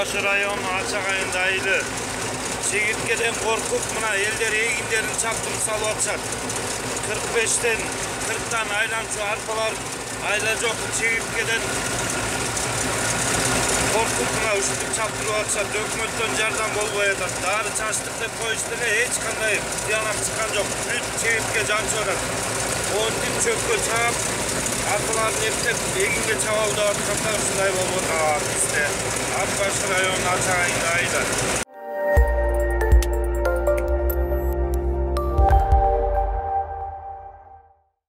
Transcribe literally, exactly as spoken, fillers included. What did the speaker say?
Başı rayonu Açak ayında aylı. Çekirtkeden korkup mına elder egindерин çaptırıp salıp atışat. kırk beşten kırktan aylançı arpalar ayla жоқ çekirtkeden korkup mına üşütüp çaptırıp atışat. Өкмөттөн жардам болбой атат. Дары чачтык деп коюшту эле эч кандай тыянак чыккан жок. Бүт чекиртке жанчып атат. Онтип чөпкө чаап арпаларды эптеп эгинге чабалдап атканда ушундай болуп атат бизде. Ат Başı rayonu Açak ayында ayла.